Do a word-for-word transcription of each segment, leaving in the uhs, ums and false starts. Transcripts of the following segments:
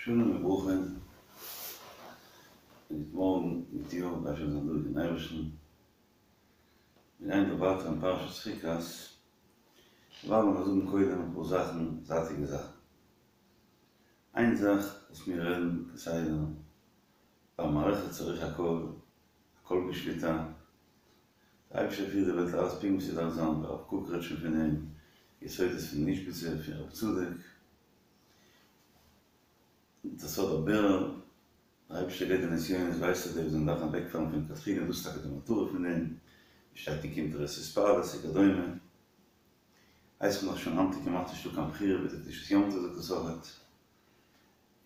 שלום וברכה, און גוט מארגן, גוט יאר, דארף שוין זיין דא דעם אייבערשטן. מיר גייען דא ווייטער אין פרשת חוקת, דערווייל לאמיר זאגן קודם אפאר זאכן, זייטיגע זאכן. איין זאך וואס מיר רעדן כסדר, במערכת צריך הכל, הכל בשליטה, דער אייבערשטער פירט די וועלט אלעס פונקט ווי ס'דארף זיין, דער הרב קוק רעדט שוין פון דעם, יסודות פון איזשביצע, פון רב צדוק, דער סוד הבירור, דער אייבערשטער געבט די נסיונות, ווייסט ער די וואס זענען דארפן אוועקפאלן פון לכתחילה, דאס איז טאקע די מטרה פון דעם, ווי שטייט אין קונטרס התפעלות וכדומה, ווייסט מען דאך שוין היינט איז כמעט נישטא קיין בחירה ווי דער קדושת יום טוב זאגט עס אויכעט,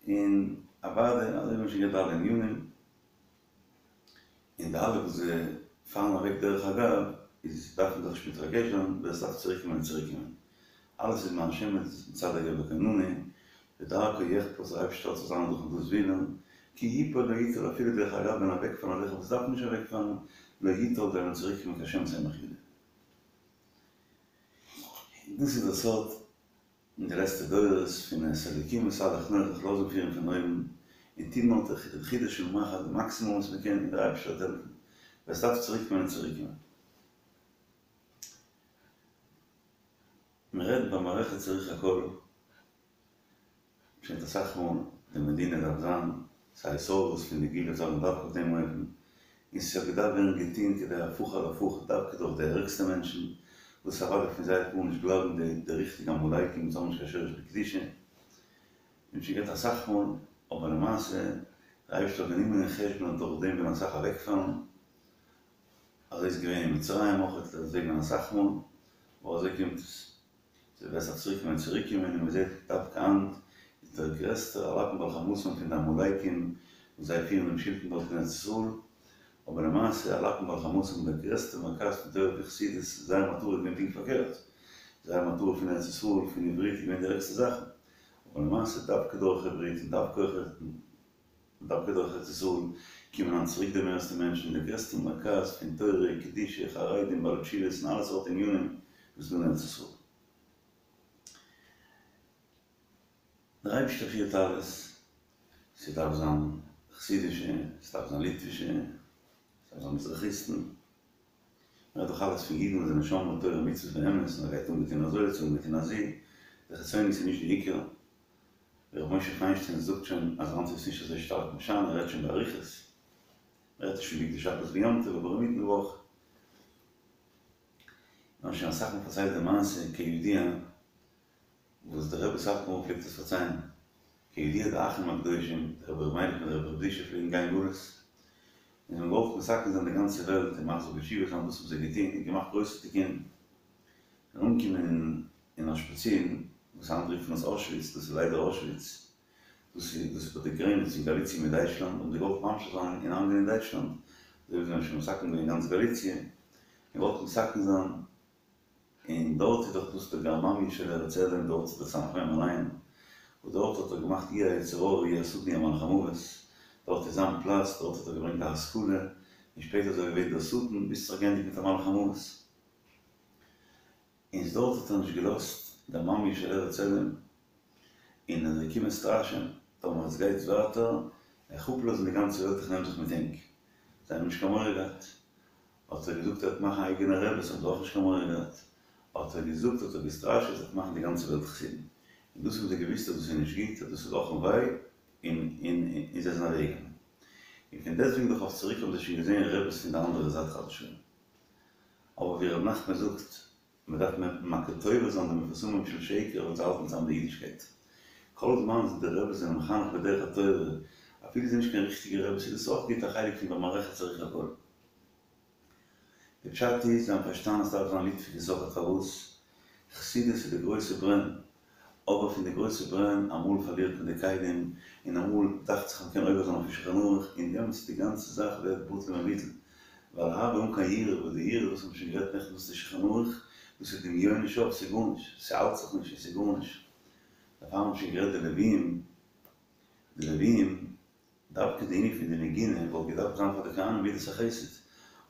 און אוודאי אזוי ווי מ'האט שוין גערעדט די אלע ענינים. און די אלע וואס זיי פארן אוועק דרך אגב איז דארף מען זיך נישט מתרגש זיין, ווער עס דארף צוריק קומען וועט צוריק קומען, אלעס איז מהשם מצד הגבר כוננו, ודרכו יחפץ דער אייבערשטער האט צו זיין דורכן דאס ווילן, כי יפול לא יטול אפילו דרך אגב וועלן אוועק פארן אזעלכע וואס דארפן נישט אוועק פארן, לא יטול זיי וועלן צוריק קומען כהשם צמח יהודה. און דאס איז דער סוד אין די לעצטע דורות פון את האלוקים התהלך נוח זיך לאזן פירן פון אויבן און טון נאר די חודו של מחט די מאקסימום וואס מען קען און דער אייבערשטער וועט העלפן ווער עס דארף צוריק קומען וועט צוריק קומען. מען רעדט במערכת צריך הכל. שוין אסאך מאל, די מדינה דארף זיין, ס'איז א התעוררות פון די גאולה זאל מען דווקא אויף דעם אופן, און ס'האט געדארפט ווערן געטון כדי הפוך על הפוך דווקא דורך די ערגסטע מענטשן, וואס אוודאי פון זיי וועט גארנישט בלייבן, די די ריכטיגע עמלקים וואס האבן נישט קיין שורש בקדושה, מ'האט שוין גערעדט אסאך מאל, אבער למעשה, דער אייבערשטער האט גענומען אין חשבון אז דורך דעם וועלן אסאך אוועקפאלן, אזוי איז געווען אין מצרים אויך, אזוי געווען אסאך מאל, אבער אזוי קומט עס. ס'וועט זיך צוריק קומען צוריק קומען און מ'זעט דווקא היינט איז דער גרעסטער על אפם ועל חמתם פון די עמלקים וואס זיי פירן דעם שלטון דארט אין ארץ ישראל, אבער למעשה על אפם ועל חמתם דער גרעסטער מרכז פון תורה וחסידות זייער מטרה איז געווען פונקט פארקערט, זייער מטרה פון ארץ ישראל פון עברית איז געווען די ערגסטע זאכן, אבער למעשה דווקא דורך עברית און דווקא דווקא דורך ארץ ישראל קומען היינט צוריק די מערסטע מענטשן, דער גרעסטער מרכז פון תורה, קדושה, חרדים, בעלי תשובות און אלע סארט ענינים וואס איז דא אין ארץ ישראל. דער אייבערשטער פירט אלעס, ס'דארף זיין חסידישע, ס'דארף זיין ליטווישע, ס'דארף זיין מזרחיסטן, מ'רעדט דאך אלעס פון אידן וואס זענען שומרי תורה ומצוות באמת, און ער גייט אנגעטון אזוי צו אנגעטון אזי, די חיצוניות איז נישט די עיקר. ווי ר' משה פיינשטיין זאגט שוין אז היינט איז עס נישט אזוי שטארק משנה, ער רעדט שוין באריכות, ער רעדט נישט פון בגדי שבת ויום טוב אבער אינמיטן וואך. מיר האבן שוין אסאך מאל פארציילט די מעשה כידוע וואס דער רבי סאטמאר פלעגט עס פארציילן, כידוע די אחים הקדושים דער רבי ר' מיילעך מיט דער רבי ר' זושא פלעגן גיין גלות און זיי האבן געוואלט מתקן זיין די גאנצע וועלט און מחזיר בתשובה זיין דאס האבן זיי געטון און געמאכט גרויסע תיקונים. און אנגעקומען אין אושפיצין, וואס היינט רופט מען עס אוישוויץ, דאס איז ליידער אוישוויץ, דאס איז דאס איז ביי די גרעניץ פון גאליציע מיט דייטשלאנד, האבן זיי געוואלט ממשיך זיין און איינגיין אין דייטשלאנד, אזוי ווי זיי האבן שוין מתקן געווען גאנץ גאליציע, און געוואלט מתקן זיין, און דארט איז דאך דאס די גרממיא של ארץ אדום, דארט איז דער סמך מם אליין, וואס דארט האט ער געמאכט הוא היצר הרע הוא השטן הוא מלאך המוות, דארט איז זיין פלאץ, דארט האט ער געברענגט די השכלה, און שפעטער איז ער געווען דער שטן, ביז ס'האט זיך געענדיגט מיט א מלאך המוות. און דארט האט ער נישט געלאזט גרממיא של ארץ אדום, און ער איז געקומען סטראשען, טאמער עס גייט ווייטער, איך אפלאזן די גאנצע וועלט איך נעם זיך מיט ענק. זיי האבן נישט קיין מורא געהאט. האט ער געזאגט ער וועט מאכן אייגענע רעבעס האבן זיי אויך נישט קיין מורא געהאט. האט ער געזאגט האט ער געסטראשעט ער וועט מאכן די גאנצע וועלט חסידים. און דאס האבן זיי געוויסט אז דאס איז נישט גוט אז דאס איז אך און וויי, און און און זיי זענען אוועקגעגאנגען. און פון דעסטוועגן דאך אויף צוריק האבן זיי שוין געזען רעבעס פון די אנדערע זייט חס ושלום. אבער ווי ר' נחמן זאגט, מען דארף מכיר טובה זיין די מפורסמים של שקר ווייל זיי האלטן צאם די אידישקייט. כל זמן די רעבעס זענען מחנך בדרך התורה, אפילו זיי נישט קיין ריכטיגע רעבעס איז דאס אויך גוט א חלק פון במערכת צריך הכל. די פשט איז, זיי האבן פארשטאנען אז ס'דארף זיין ליטווישע זאכן פארוואס חסידות איז די גרויסע ברען, אבער פון די גרויסע ברען אמאל פארלירט מען די כלים, און אמאל דאכט זיך מ'קען עובר זיין אויף שולחן ערוך, און דעמאלטס די גאנצע זאך ווערט בטל ומבוטל, ווייל אהבה אן קיין יראה, וואס די יראה וואס מ'האט שוין גערעדט נעכטן דאס איז שולחן ערוך, דאס איז דמיונו שוא, ס'איז גארנישט, ס'האלט זיך נישט און ס'איז גארנישט. דערפאר האבן שוין גערעדט די לוויים, די לוויים, דווקא די ענין פון די נגינה וואלט געדארפט זיין פאר די כהנים מידת החסד,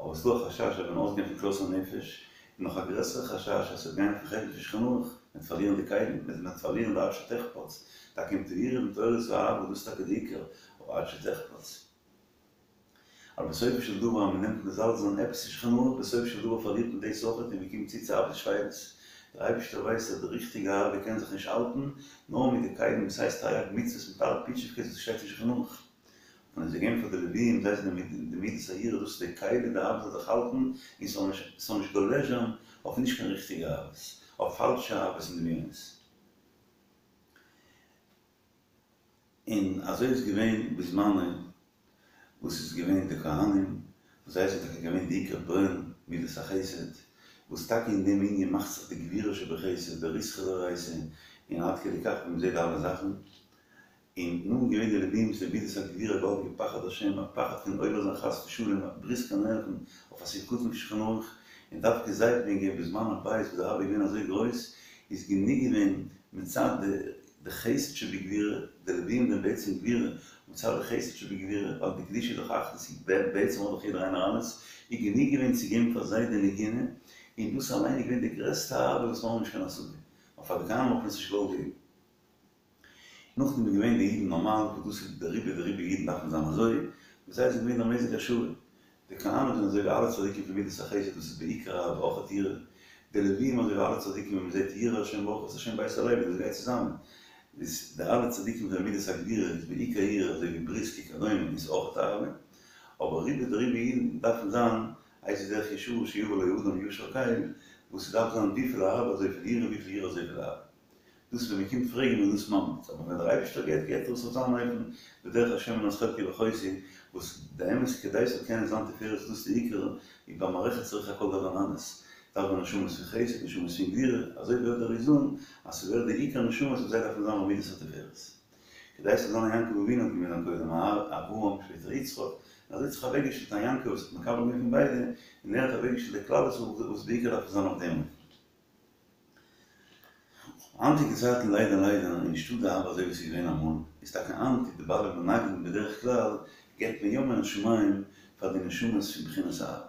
אבער ס'דא א חשש אז ווען אויסגיין פון כלות הנפש, און נאך א גרעסערע חשש אז ס'וועט גיין אויפן חשבון פון שולחן ערוך. מ'וועט פארלירן די כלים, מ'וועט פארלירן די עד שתחפץ, טאקע אם תהי' בתורת האהבה, דאס איז טאקע די עיקר, אבער עד שתחפץ. אבער בסופו של דבר אז מ'נעמט מזלזל זיין עפעס אין שולחן ערוך, בסופו של דבר פארלירט מען דאס אויכעט און מ'קומט צו צו אהבת שפלות. דער אייבערשטער ווייסט אז די ריכטיגע אהבה קען זיך נישט האלטן נאר מיט די כלים וואס הייסט תרי"ג מצוות מיט אלע פיטשיווקעס וואס שטייט אין שולחן ערוך. און עס געגעבן פאר די לוויים, זיי זענען מיט די מידת היראה, דאס איז די כלי די אהבה זאל זיך האלטן און ס'זאל נישט גולש זיין אויף נישט קיין ריכטיגע אהבות, אויף פאלשע אהבות און דמיונות. און אזוי איז געווען בזמנו וואס איז געווען די כהנים, וואס זיי זענען טאקע געווען די עיקר ברען מידת החסד, וואס טאקע אין דעם ענין מאכט זיך די גבורה שבחסד, די ריתחא דאורייתא, און עד כדי כך ווי מ'זעט די אלע זאכן. און נאכדעם געווען די לווים וואס די מידת הגבורה געוואלדיגע פחד השם, א פחד פון עובר זיין חס ושלום א ברית קיין ערכין אויף א סעיף קטן פון שולחן ערוך, און דווקא זיי האט מען געגעבן בזמן הבית וואס די אהבה איז געווען אזוי גרויס, איז גענוג געווען מצד די די חסד שבגבורה, די לווים זענען בעצם גבורה, מצד די חסד שבגבורה, ווייל די קדושה איז דאך אחדות, בעצם האט דאך יעדער איינער אלעס, איז גענוג געווען צו געבן פאר זיי די נגינה, און דאס אליין איז געווען די גרעסטע אהבה וואס מיר האבן נישט קיין השגה, אבער פאר די כהנים האט מען עס נישט געוואלט געבן. נאכדעם איז געווען די אידן נארמאל, וואס דאס איז די רובא דרובא אידן דארפן זיין אזוי, וואס זיי זענען געווען דער מזג השווה. די כהנים זענען אזוי ווי אלע צדיקים פון מידת החסד וואס איז בעיקר אהבה אויכעט יראה, די לווים אזוי ווי אלע צדיקים ווען מען זעט ירא השם ברכו את השם בית הלוי דאס גייט צוזאמען, איז די אלע צדיקים זענען מידת הגבורה איז בעיקר יראה אזוי ווי בריסק וכדומה איז אויכעט אהבה, אבער רובא דרובא אידן דארפן זיין איזהו דרך ישרה שיבא לו אדם ישר קל, וואס ס'דארף זיין וויפיל אהבה אזויפיל יראה וויפיל יראה אזויפיל אהבה. דאס ווען מען קומט פרעגן איז דאס ממליץ, אבער ווען דער אייבערשטער געבט געבט ער עס אויף זיין אופן, בדרך השם מנת חלקי ואחותי, וואס די אמת כדי ס'זאל קענען זיין תפארת דאס איז די עיקר, איז במערכת צריך הכל דבר אנדערש, דארף מען נשמות פון חסד, נשמות פון גבורה, אזוי ווערט דער איזון אז ס'ווערט די עיקר נשמות וואס זיי דארפן זיין במידת התפארת. כדי ס'זאל זיין א יעקב אבינו האט געווען זיין קודם אברהם שפעטער יצחק, און אזוי האט זיך אוועקגעשטעלט א יעקב וואס האט מקבל געווען פון ביידע, און ער האט אוועקגעשטעלט די כלל וואס בעיקר דארף עס זיין אויף דעם אופן. היינטיגע צייטן ליידער ליידער איז נישטא די אהבה אזוי ווי עס איז געווען אמאל, איז טאקע היינט די בעלי מנגנים בדרך כלל געבט מען יא מן השמים פאר די נשמות פון בחינת אהבה,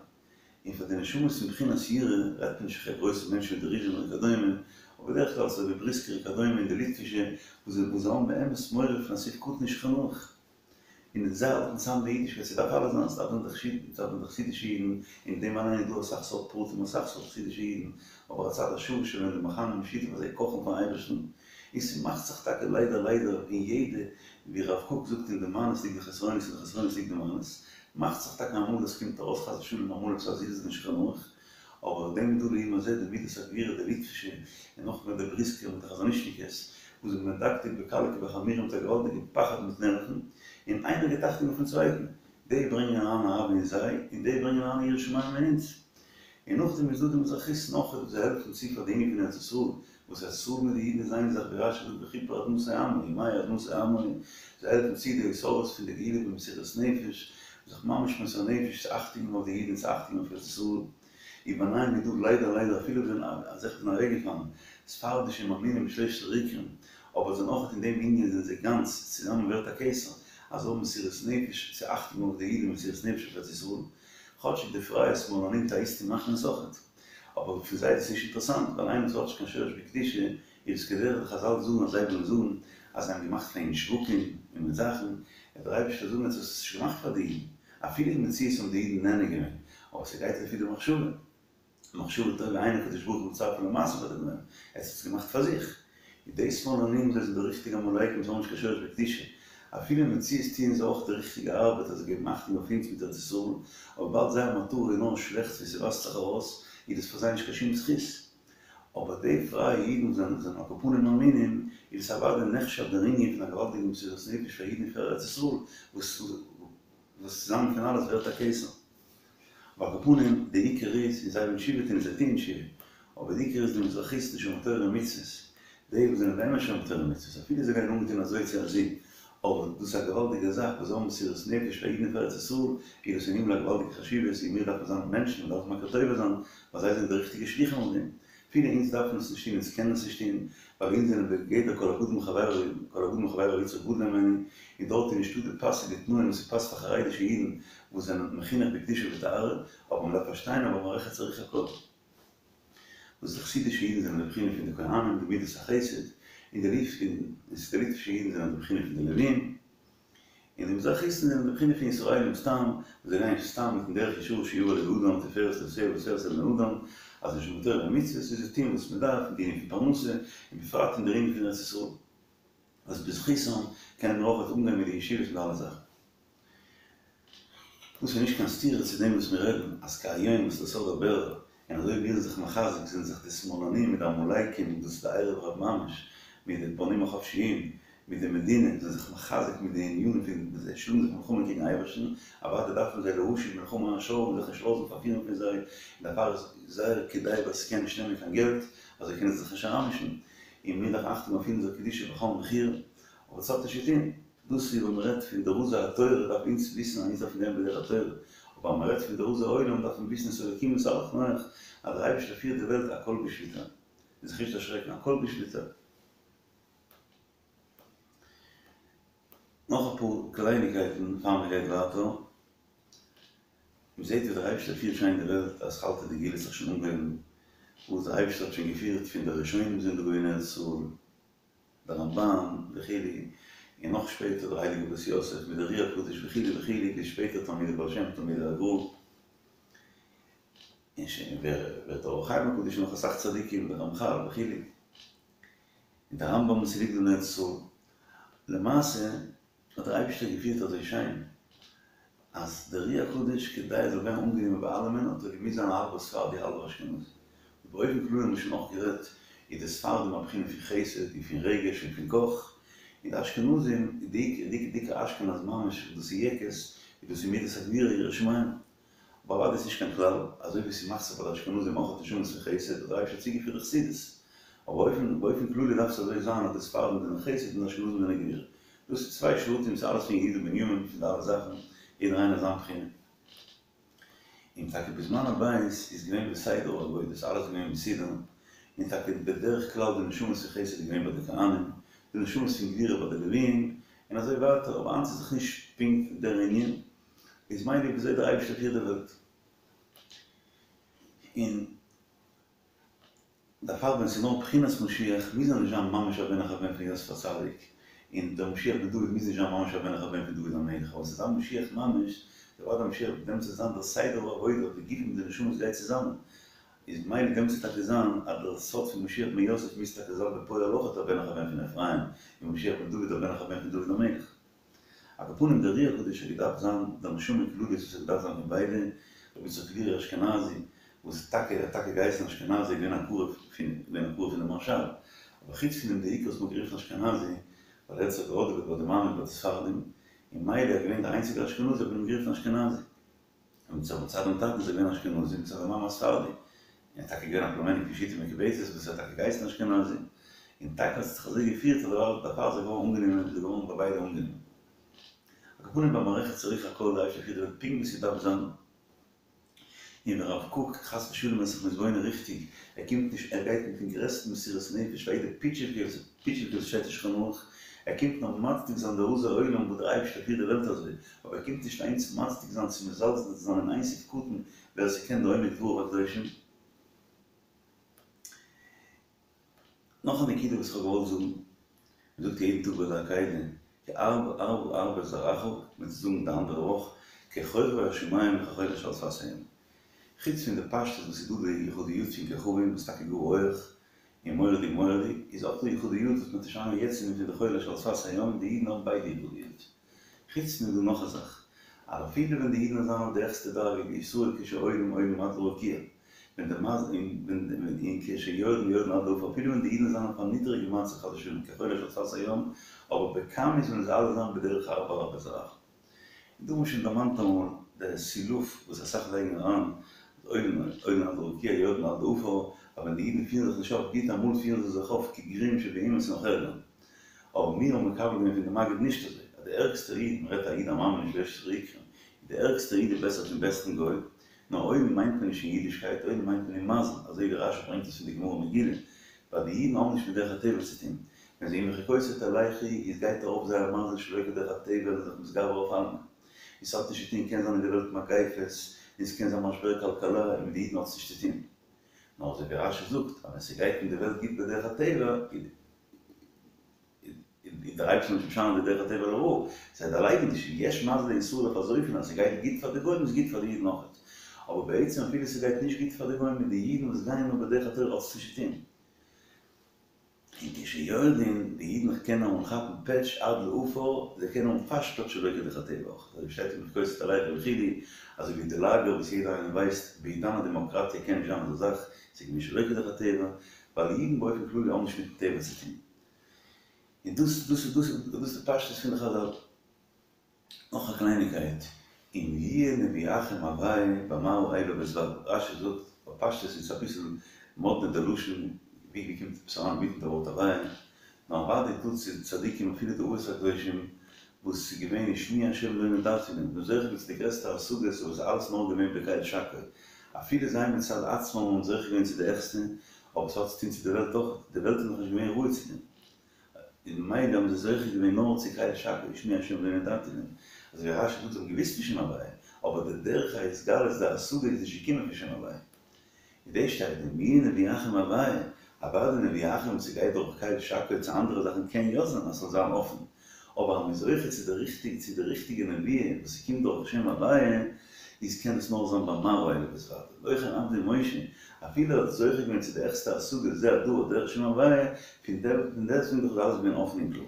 און פאר די נשמות פון בחינת יראה רעדט מען נישט פון גרויסע מענטשן ווי די ריזשינער וכדומה, אבער בדרך כלל אזוי ווי בריסקער וכדומה און די ליטווישע וואס זיי האבן באמת מורא פון א סעיף קטן אין שולחן ערוך. און זיי האלטן צאם די אידישקייט, ס'דארף אלעס זיין, ס'דארף זיין די חסידים, ס'דארף זיין די חסידישע אידן, אין דעם אליין איז דא אסאך סארט פרטים, אסאך סארט חסידישע אידן, אבער הצד השוה שבהן די מכנה משותף אז זיי קאכן פארן אייבערשטן, און ס'מאכט זיך טאקע ליידער ליידער אין יעדע, ווי הרב קוק זאגט אין די מעלות ליגט די חסרונות אין די חסרונות ליגט די מעלות, מאכט זיך טאקע אמאל עס קומט ארויס חס ושלום אמאל עפעס א זלזול אין שולחן ערוך, אבער דעם איז דא לעומת זה די מידת הגבורה די ליטווישע און נאכמער די בריסקער מיט די חזון איש'ניקעס וואס זענען מדקדק בקלה כבחמורה מיט א געוואלדיגע פחד מיט נערוון און איינער גיט אכטונג אויפן צווייטן, די ברענגען אריין אהבה אין זיי און די ברענגען אריין יראת שמים אין אונז. און נאכדעם איז דא די מזרחיסטן אויך וואס זיי העלפן צו פאר די ענין פון ארץ ישראל, וואס ארץ ישראל מיט די אידן איז איין זאך ווי רשי זאגט וכפר אדמתו עמו ומהי אדמתו עמו, זיי העלפן צו די התעוררות פון די גאולה במסירות נפש, זיך ממש מוסר נפש צו אכטונג געבן אויף די אידן און צו אכטונג געבן אויף ארץ ישראל, וביניהם איז דא ליידער ליידער אפילו ווען אזעלכע זענען אוועקגעפאלן, ספרדישע מאמינים בשלושת העיקרים, אבער זענען אויך אין דעם ענין זענען זיי גאנץ, צוזאמען ווערט א כתר, אז זיי האבן מסירות נפש צו אכטונג געבן אויף די אידן מסירות נפש אויף ארץ ישראל, כאטשיג די פרייע שמאלנים אטעאיסטן מאכן עס אויכעט. אבער פון זיי איז עס נישט אינטערעסאנט, ווייל איינער וואס האט נישט קיין שורש בקדושה, איז עס כדרך די חזל זאגן אז זיי ווילן זאגן אז זיי האבן געמאכט פאר אים שווקים און מיט זאכן, וועט דער אייבערשטער זאגן עטס האט עס נישט געמאכט פאר די אידן, אפילו אין מציאות האבן די אידן נהנה געווען, אבער ס'גייט לפי די מחשבה, מחשבה טובה אין הקדוש ברוך הוא מצרפה למעשה ביי דעם, עטס האט עס געמאכט פאר זיך. איז די שמאלנים זיי זענען די ריכטיגע עמלקים זיי האבן נישט קיין שורש בקדושה, אפילו אין מציאות טוען זיי אויך די ריכטיגע ארבעט אז זיי געבן אכטונג אויף אונז מיט ארץ ישראל, אבער וויבאלד זייער מטרה איז נאר שלעכטס ווי ס'ווייזט זיך ארויס, איז דאס פאר זיי נישט קיין שום זכות. אבער די פרייע אידן וואס זענען זענען על כל פנים מאמינים, איז עס אוודאי נחשב דער ענין פון א געוואלדיגע מסירות נפש פאר אידן און פאר ארץ ישראל, וואס וואס צוזאמען פון אלעס ווערט א כתר. אבער על כל פנים, די עיקר איז, און זיי ווילן תשובה טון און זיי טוען תשובה, אבער די עיקר איז די מזרחיסטן שומרי תורה ומצוות, די וואס זענען באמת שומרי תורה ומצוות, אפילו זיי גייען אנגעטון אזוי צו אזוי, אבער דאס איז א געוואלדיגע זאך וואס זיי האבן מסירות נפש פאר אידן און פאר ארץ ישראל, איז דאס אין הימל א געוואלדיגע חשיבות, און מיר דארפן זיין מענטשן, מיר דארפן מכיר טובה זיין, ווייל זיי זענען די ריכטיגע שליחים אויף דעם. אפילו אונז דארפן עס נישט טון, אונז קענען עס נישט טון, ווייל אונז זענען בגדר כל הגדול מחבירו, כל הגדול מחבירו יצרו גדול ממנו, און דארט איז נישטא די פאסיגע תנאים וואס ס'פאסט פאר חרדישע אידן וואס זענען מחונך בקדושה וטהרה, אבער מ'דארף פארשטיין אז במערכת צריך הכל. וואס די חסידישע אידן זענען די בחינה פון די כהנים, די מידת החסד, און די ליטווישע אידן זענען די בחינה פון די לווים, און די מזרחיסטן זענען די בחינה פון ישראלים סתם, וואס זיי גייען סתם מיטן דרך ישרה שיבא לב אדם תפארת לבסר וסרס לבני אדם, אז נישט מיט תורה ומצוות איז זיי טוהן וואס מען דארף אין די ענין פון פרנסה, און בפרט אין דער ענין פון ארץ ישראל, וואס בזכותם קענען מיר אויך אנגיין מיט די ישיבות מיט אלע זאכן. דאס איז נישט קיין סתירה צו דעם וואס מיר רעדן אז כהיום וואס דער סוד הבער און אזוי ווי מיר זענען זיך מחזק זענען זיך די שמאלנים מיט די עמלקים דאס איז די ערב רב ממש מיט די בונים החפשיים מיט די מדינה זענען זיך מחזק מיט די ענינים פון זיי שלאגן זיך מלחמה קעגן אייבערשטן אוודאי דארפן זיי להשיב מלחמה השור און זיך נישט לאזן פארפירן פון זיי און דערפאר איז זייער כדאי ווייל ס'קען נישט נעמען קיין געלט אז זיי קענען זיך נישט אריינמישן און מיר דארפן אכטונג אויף אונזער קדושה בכל מחיר אבער עס האט נישט צו טון. דאס איז ווען מען רעדט פון די רזי התורה דארף אונז וויסן אז אונז דארפן גיין בדרך התורה, אבער אז מען רעדט פון די רזי העולם דארף מען וויסן את האלקים התהלך נח אז דער אייבערשטער פירט די וועלט הכל בשליטה, און זיך נישט דערשרעקן, הכל בשליטה. נאך אפאר קלייניקייטן פאר מען גייט ווייטער, מען זעט ווי דער אייבערשטער פירט שיין די וועלט אז אתחלתא דגאולה האט זיך שוין אנגעהויבן, וואס דער אייבערשטער האט שוין געפירט פון די ראשונים זענען דא געווען אין ארץ ישראל, דער רמב"ן וכו', און נאך שפעטער דער הייליגער בית יוסף מיט דער אר"י הקדוש וכו' וכו', ביז שפעטער תלמידי בעל שם תלמידי הגר"א, און שוין ווער ווערט אור החיים הקדוש און נאך אסאך צדיקים דער רמח"ל וכו', און דער רמב"ם וואס ליגט דא אין ארץ ישראל, למעשה האט דער אייבישטער געפירט אזוי שיין אז דער אר"י הקדוש כדי ער זאל ווערן אנגענומען ביי אלעמען האט ער געמוזט זיין א האלבער ספרדי האלבער אשכנזי. באופן כללי האבן מיר שוין אויך גערעדט איז די ספרדים א בחינה פון חסד און פון רגש און פון קאך, און די אשכנזים די די דיקע אשכנז ממש וואס דאס איז יעקעס איז דאס איז מידת הגבורה יראת שמים. אבער אוודאי איז נישט קיין כלל, אזוי ווי ס'מאכט זיך ביי די אשכנזים אויך נשמות פון חסד האט דער אייבערשטער צוגעפירט די חסידות. אבער באופן באופן כללי דארף עס אזוי זיין אז די ספרדים זענען חסד און די אשכנזים זענען גבורה. דאס איז צוויי שבטים ס'איז אלעס פון יהודה בנימין פון די אלע זאכן, יעדער איינער זיין בחינה. און טאקע בזמן הבית איז געווען בסדר העבודה, ס'איז אלעס געווען מסודר, און טאקע בדרך כלל די נשמות פון חסד איז געווען ביי די כהנים, די נשמות פון גבורה ביי די לוויים, און אזוי ווייטער, אבער היינט איז דאך נישט פונקט דער ענין, איז מילא וויאזוי דער אייבערשטער פירט די וועלט. און דערפאר ווען ס'איז נאר בחינת משיח מוז ער נישט זיין ממש א בן אחר בן פון יוסף הצדיק, און דער משיח בן דוד מוז נישט זיין ממש א בן אחר בן פון דוד המלך, אבער ס'איז א משיח ממש, דערפאר דער משיח דעמאלטס וועט זיין דער סדר העבודה, די גופים און די נשמות גייט צוזאמען, איז מילא דעמאלטס וועט טאקע זיין אז דער סוד פון משיח בן יוסף מוז טאקע זיין בפועל אויך א בן אחר בן פון אפרים, און משיח בן דוד א בן אחר בן פון דוד המלך. על כל פנים דער אר"י הקדוש האט געדארפט זיין דער נשמה כללית וואס האט געדארפט זיין פון ביידע, רבי יצחק לוריא אשכנזי וואס טאקע ער האט טאקע געהייסן אשכנזי איז געווען א קרוב פון געווען א קרוב פון די מהרש"ל, אבער חוץ פון דעם די עיקר וואס מ'האט גערופן אשכנזי ווייל ער האט זיך געהאדעוועט ביי די מאמע ביי די ספרדים און מילא ער איז געווען דער איינציגער אשכנזי האט מען אים גערופן אשכנזי. און מצד מצד דעם טאטן איז ער געווען אשכנזי, מצד די מאמע א ספרדי. און ער איז טאקע געווען א פלומעניק פון שיטה מקובצת וואס ער האט טאקע געהייסן אשכנזי. און טאקע האט זיך אזוי געפירט אז דערפאר איז ער געווארן אנגענומען איז ער געווארן ביי ביידע אנגענומען. על כל פנים במערכת צריך הכל די אייבערשטער פירט די וועלט פונקט ווי ס'דארף זיין. און ווען רב קוק חס ושלום איז זיך מתבונן ריכטיג, ער קומט נישט, ער גייט מיטן גרעסטן מסירות נפש פאר יעדע פיטשיווקע פיטשיווקע וואס שטייט אין שולחן ערוך, ער קומט נאר מצדיק זיין די רזי עולם וואס דער אייבערשטער פירט די וועלט אזוי, אבער ער קומט נישט אהין צו מצדיק זיין צו מזלזל זיין אין איין סעיף קטן ווער ס'קען די עומק דבריו הקדושים. נאך א נקודה וואס איך האב געוואלט זאגן, מ'זאגט יעדן טאג ביי די עקידה, כי הרבה הרבה הרבה זרעך, מ'וועט עס זאגן די אנדערע וואך, ככוכבי השמים וכחול אשר על שפת הים. חוץ פון די פשטות וואס איז דא די יחודיות פון כוכבים וואס איז טאקע גאר הויעך און מורא'דיג מורא'דיג, איז אויך דא יחודיות וואס מ'האט נישט איינמאל יעצט פון די חול אשר על שפת הים, די אידן האבן ביידע יחודיות. חוץ פון דעם איז דא נאך א זאך, אז אפילו ווען די אידן זיינען אויף די העכסטע דרגה וישראל כשעולים עולים עד לרקיע, ווען די מז און ווען און כשיורדים יורדים עד לעפר, אפילו ווען די אידן זיינען אויף א נידעריגע מצב חס ושלום כחול אשר על שפת הים, אבער בכמות וועלן זיי אלע זיין בדרך הרבה הרבה זרעך. און דא האבן מיר שוין דערמאנט אמאל די סילוף וואס אסאך לייגן אריין, אז עולים עולים עד לרקיע יורדים עד לעפר, אז ווען די אידן פירן זיך נישט אויף גוט אמאל פירן זיי זיך אויף כגרועים שבאומות און נאך ערגער. אבער מיר האבן מקבל געווען פון די מגיד נישט אזוי, אז די ערגסטע איד, מען רעדט א איד א מאמין נישט ועשרה עיקרים, די ערגסטע איד איז בעסער פון בעסטן גוי, נאר עולים מיינט מען נישט אין אידישקייט, עולים מיינט מען אין מזל, אזוי ווי רש"י ברענגט עס פון די גמרא מגילה, ווייל די אידן האבן נישט מיט דרך הטבע צו טון, ווען זיי אם בחוקותי תלכו איז גייט ארויף זייער מזל שלא כדרך הטבע און זיך מתגבר אויף אלעמען. און ס'האט נישט צו טון, קען זיין אין די וועלט מגיפות, און ס'קען זיין משבר כלכלה, און מיט די אידן האט עס נישט צו טון. נאר אזוי ווי רשי זאגט אז ווען ס'גייט אין די וועלט גוט בדרך הטבע איז דער אייבערשטער נישט משנה די דרך הטבע לרעה, זיי דערלייגן נישט, יש מזל לישראל אויף אזויפיל אז ס'גייט גוט פאר די גוים איז גוט פאר די אידן אויכעט, אבער בעצם אפילו ס'גייט נישט גוט פאר די גוים מיט די אידן וואס גייען נאר בדרך התורה האט עס נישט צו טון. און כשיורדין, די אידן קענען אמאל כאפן פעטש עד לעפר, זיי קענען האבן פארשטאט שלא כדרך הטבע אויך, אזוי ווי שטייט אין בחוקותי תלכו וכו', אזוי ווי די לאגער וואס יעדער איינער ווייסט, בעידן הדעמאקראטיע קען נישט זיין אזא זאך, ס'איז געווען שלא כדרך הטבע, ווייל אידן באופן כללי האבן נישט מיטן טבע צו טון. און דאס דאס דאס דאס איז די פשטות פון די חזל. נאך א קלייניקייט, אם יהיה נביאכם הוי' במראה אליו בהתודע, רשי זאגט בפשטות איז עס אביסל מאדנע די לשון, ווי ווי קומט עפעס אריין אינמיטן די ווארט הוי', נאר אוודאי דא צו צדיקים אפילו די אבות הקדושים וואס איז געווען ושמי השם לא נודעתי להם, זיי זוכה געווען צו די גרעסטע השגות אבער עס איז אלעס נאר געווען בקל שקי, אפילו זיי מצד עצמם האבן זוכה געווען צו די העכסטע, אבער עס האט צו טון צו די וועלט אויך, די וועלט איז נאכנישט געווען ראוי צו דעם. און ממילא האבן זיי זוכה געווען נאר צו קל שקי ושמי השם לא נודעתי להם, אזוי ווי רשי זאגט זיי האבן געוויסט פון שם הוויה, אבער די דרך ההתגלות די השגה איז נישט געקומען פון שם הוויה. און דאס שטייט אם יהיה נביאכם הוויה, אוודאי נביאכם ס'גייט דורך קל שקי צו אנדערע זאכן קען יא זיין אז ס'זאל זיין אפן, אבער אז מ'איז זוכה צו די ריכטיג צו די ריכטיגע נביאה וואס ס'קומט דורך שם הוויה, איז קען עס נאר זיין במראה אליו בהתודע, לא כן עבדי משה, אפילו ער האט זוכה געווען צו די העכסטע השגה זה הדבר דרך שם הוויה, פון דעסטוועגן דאך איז אלעס געווען אפן און קלאר.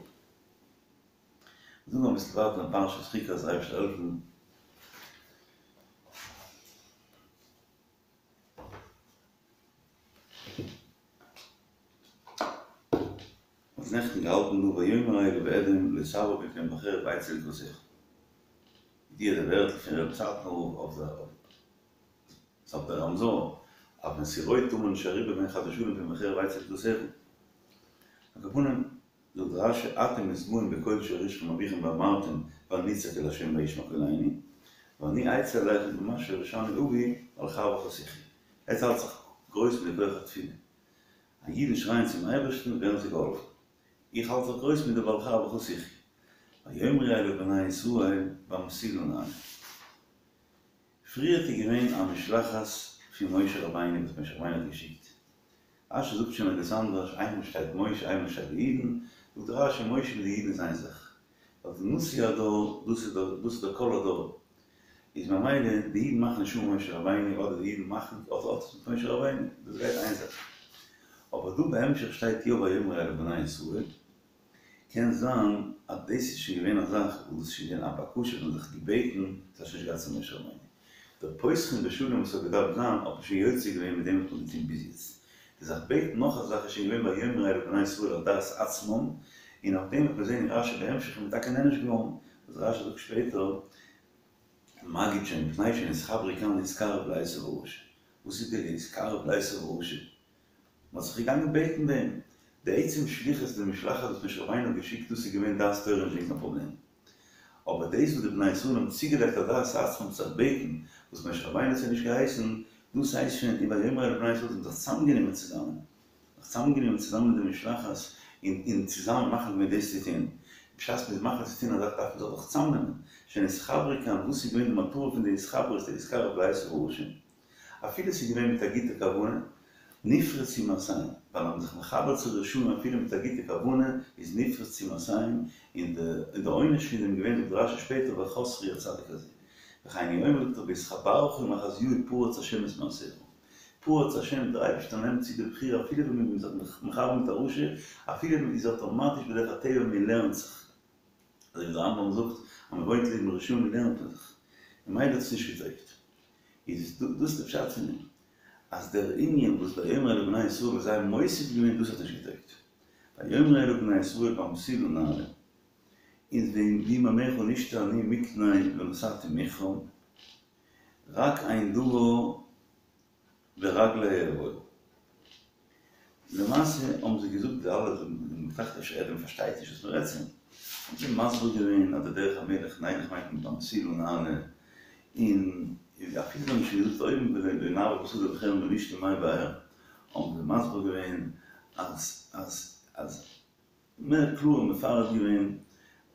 זאגן אביסל ווייטער אין פרשת חוקת אייבערשטער העלפן. מ'האט נעכטן געהאלטן דא ויאמר אליו אדום לא תעבור בפניהם בחרב אצא לקראתך. די די ווערטל פון רב סאטמאר רב אויף די אויף די רמזור אז ווען ס'איז רויט טאר מען נישט אריבער גיין חס ושלום פון בחרב אצא לקראתך. על כל פנים זאגט רשי אתם מתגאים בקול שהורישכם אביכם ואמרתם בל נצעק אל ה' וישמע קולנו ואני אצא אליכם במה שהורישני אבי ועל חרבך תחיה. עטס האלט זיך גרויס מיט די כח התפילה. אז אידן שרייען צום אייבערשטן ווערן זיי געהאלפן. איך האלט זיך גרויס מיט די ועל חרבך תחיה. ויאמרו אליו בני ישראל במסילה נעלה. פריערט איז געווען א משלחת פון משה רבינו וואס משה רבינו האט געשיקט. רשי זאגט שוין ערגעץ אנדערש, איינמאל שטייט משה איינמאל שטייט די אידן, זאגט רשי משה מיט די אידן איז איין זאך. ווייל די נשיא הדור, דאס איז דער דאס איז דער קול הדור. איז ממילא די אידן מאכן נישט אן משה רבינו אדער די אידן מאכן אט אט מיט משה רבינו, דאס גייט איין זאך. אבער דא בהמשך שטייט יא ויאמרו אליו בני ישראל, קען זיין אז דאס איז שוין געווען א זאך וואס דאס איז שוין געווען א בקשה פון זיך געבעטן, עס האט שוין נישט געהאט צו משה רבינו. דער פותחין בשלום וואס האט געדארפט זיין האט מען שוין יוצא געווען מיט דעם וואס מען האט געטון ביז יעצט. די זיך בעטן נאך א זאך איז שוין געווען ויאמרו אליו בני ישראל על דעת עצמם, און אויף דעם וועט מען זען אין רשי בהמשך איז מען טאקע נענש געווארן, וואס רשי זאגט שפעטער, מגיד שמפני שנתחברו כאן להתקרב לעשו הרשע. וואס איז די להתקרב לעשו הרשע? מען האט זיך געגאנגען בעטן ביי אים. די עצם שליחות די משלחת וואס משה רבינו האט געשיקט דאס איז געווען דעת תורה נישט געווען קיין פראבלעם. אבער דאס וואס די בני ישראל האבן צוגעלייגט על דעת עצמם זיך בעטן וואס משה רבינו האט זיי נישט געהייסן, דאס הייסט שוין און ויאמרו אליו בני ישראל זיי האבן זיך צוזאמגענומען צוזאמען, זיך צוזאמגענומען צוזאמען מיט די משלחת און און צוזאמען מחליט געווען דאס צו טון. בשעת מען איז מחליט צו טון א זאך דארף מען זיך דאך צוזאמנעמען. שנתחברו כאן, וואס איז געווען די מטרה פון די התחברות די להתקרב לעשו הרשע? אפילו ס'איז געווען מיט א גוטע כוונה, נפרצו מעשיהם, ווייל אז מ'איז זיך מחבר צו רשעים אפילו מיט א גוטע כוונה, איז נפרצו מעשיהם, און די עונש פון דעם געווען זאגט רשי שפעטער וחסרו הצדיק הזה. וכן הוא אומר זאגט ער בהתחברך עם אחזיהו פרץ השם את מעשיך. פרץ השם, דער אייבערשטער נעמט צו די בחירה אפילו ווען מ'איז זיך מחבר מיט א רשע, אפילו ווען מ'איז אטאמאטיש בדרך הטבע מ'לערנט זיך. אזוי ווי דער רמב"ם זאגט אז מ'וואוינט לעבן רשעים לערנט מען זיך. ממילא האט עס נישט געטויגט. איז דאס די פשט פון דעם אז דער ענין וואס ויאמרו אליו בני ישראל וואס זיי האבן מוסיף געווען דאס האט נישט געטויגט. ויאמרו אליו בני ישראל במסילה נעלה און ואם מימיך נשתה אני מקנה ונתתי מכרם רק אין דבר ברגלי אעבור. למעשה האבן זיי געזאגט די אלע זיי האבן געטראכט אפשר אדום פארשטייט נישט וואס מ'רעדט צו אים, האבן זיי מסביר געווען אז די דרך המלך נלך מיינט מען במסילה נעלה, און אפילו זיי האבן שוין געזאגט אויבן ולא נעבור בשדה בחרם ולא נשתה מי באר, האבן זיי מסביר געווען אז אז אז מער קלאר און מפרט געווען,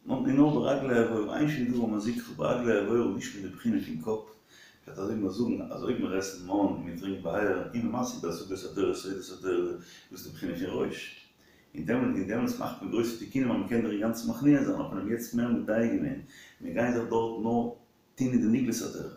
און נאר ברגלי אעבור, אין שום דבר מזיקך ברגלי אעבור, נישט מיט די בחינה פון קאפ, פשט אזוי מיר זאגן אז אויב מיר עסן מן און מיר טרינקן באר און מען משיג בהשגת התורה סודות התורה דאס איז די בחינה פון ראש און דעמאלט און דעמאלטס מאכט מען גרויסע תיקונים אז מען קען דיר אינגאנצן מכניע זיין האט מען אים יעצט מער מדייק געווען מיר גייען זיך דארט נאר טוהן אין די נגלות התורה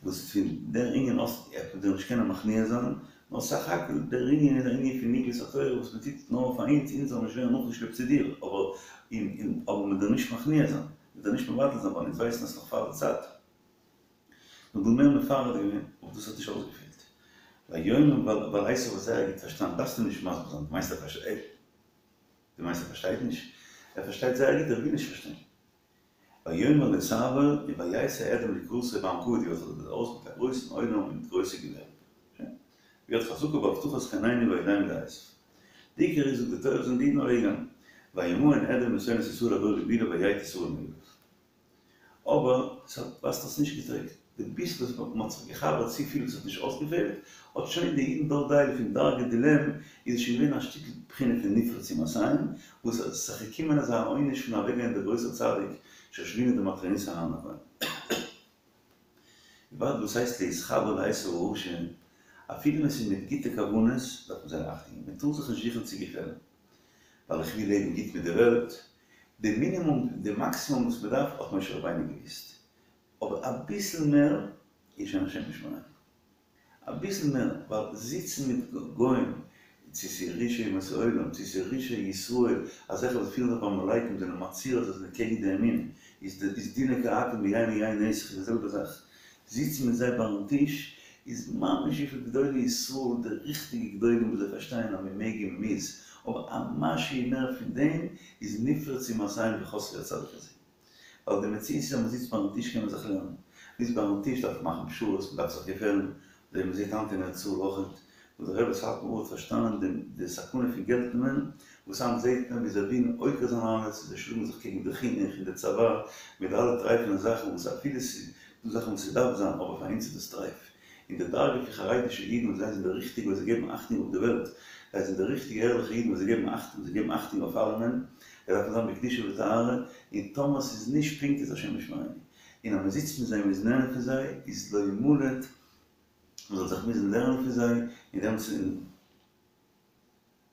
וואס פון דער ענין האסט וועט מען דיר נישט קענען מכניע זיין נאר סך הכל דער ענין איז א ענין פון נגלות התורה וואס מען טוט נאר פאר אונז אונז זאלן נישט ווערן נאכגעשלעפט צו דיר אבער און און אבער מען דיר נישט מכניע זיין מען דיר נישט מבטל זיין ווייל אונז ווייסן אז ס'נאך פאר די צייט. נאר דא מער מפרט געווען, אבער דאס האט נישט אויסגעפעלט. ויאמר ווייל ווייל עשו האט זייער גוט פארשטאנען, דארפסטו נישט מסביר זיין, דו מיינסט ער פארשטייט דו מיינסט ער פארשטייט נישט? ער פארשטייט זייער גוט, ער וויל נישט פארשטיין. ויאמר לא תעבור און ויצא אדום לקראתו בעם כבד האט זיך ארויס מיט א גרויסן עולם און מיט גרויסע געווער. שוין. ויד חזקה בהבטחת חננו וידענו לעשו. די עיקר איז זאגט די תורה זענען די אידן אוועקגעגאנגען. וימאן אדום משונאת ישראל עבור גבולה ויט ישראל מעליו. אבער ס'האט ווייזט אויס נישט געטויגט, די ביסל וואס מ'האט זיך געחבר'ט צופיל וואס האט נישט אויסגעפעלט, האט שוין די אידן דארט דייל פון דרגה דילם איז עס שוין געווען א שטיקל בחינה פון נפרצו מעשיהם, וואס עס איז זיך געקומען אזא עונש פון אוועקגיין דער גרויסער צדיק שושבינו דמטרוניתא אהרן הכהן. וויבאלד וואס הייסט להתחבר לעשו הרשע, אפילו ווען ס'איז מיט גוטע כוונות דארף מען זייער אכטונג געבן, מ'טאר זיך נישט זוכן צו געפעלן, ווייל איך וויל לעבן גוט מיט די וועלט, די מינימום, די מאקסימום וואס מען דארף האט משה רבינו געוויסט, אבער אביסל מער איז שוין השם ישמרינו. אביסל מער, ווייל זיצן מיט גוים, צו ס'איז רשעי אומות העולם, צו ס'איז רשעי ישראל, אזעלכע וואס פירן זיך ווי עמלקים זענען מצהיר אז זיי זענען קעגן די אמונה, איז די איז דינא כעכו"ם ביין יין נסך איז די זעלבע זאך. זיצן מיט זיי ביים טיש איז ממש וויפיל גדולי ישראל, די ריכטיגע גדולים וואס זיי פארשטייען אז מען מעג און מען מוז, אבער א משהו מער פון דעם איז נפרצו מעשיהם וחסרו הצדיק הזה. ווייל די מציאות איז אז מען זיצט ביים טיש קען מען זיך לערנען, מ'זיצט ביים טיש דארף מען מאכן פשרות, מען דארף זיך געפעלן, אזוי ווי מען זעט היינט אין ארץ ישראל אויכעט, וואס דער רבי סאטמאר האט פארשטאנען די די סכנה פון געלט נעמען, וואס היינט זעט מען ווי זיי ווילן עוקר זיין אלעס, זיי שלאגן זיך קעגן די חינוך און די צבא, מיט די אלע טרייפענע זאכן וואס אפילו ס'איז דא זאכן וואס ס'דארף זיין, אבער פאר אונז איז דאס טרייף. און די דרגה פון חרדישע אידן וואס זיי זענען די ריכטיגע וואס זיי געבן אכטונג אויף די וועלט, זיי זענען די ריכטיגע ערליכע אידן וואס זיי געבן אכטונג, זיי געבן אכטונג אויף אלעמען, זיי דארפן זיין בקדושה וטהרה, און טאמער ס'איז נישט פונקט איז השם ישמרינו. און אז מ'זיצט מיט זיי און מ'איז נהנה פון זיי, איז לא ימלט, מ'זאל זיך מוזן לערנען פון זיי, און דעמאלטס און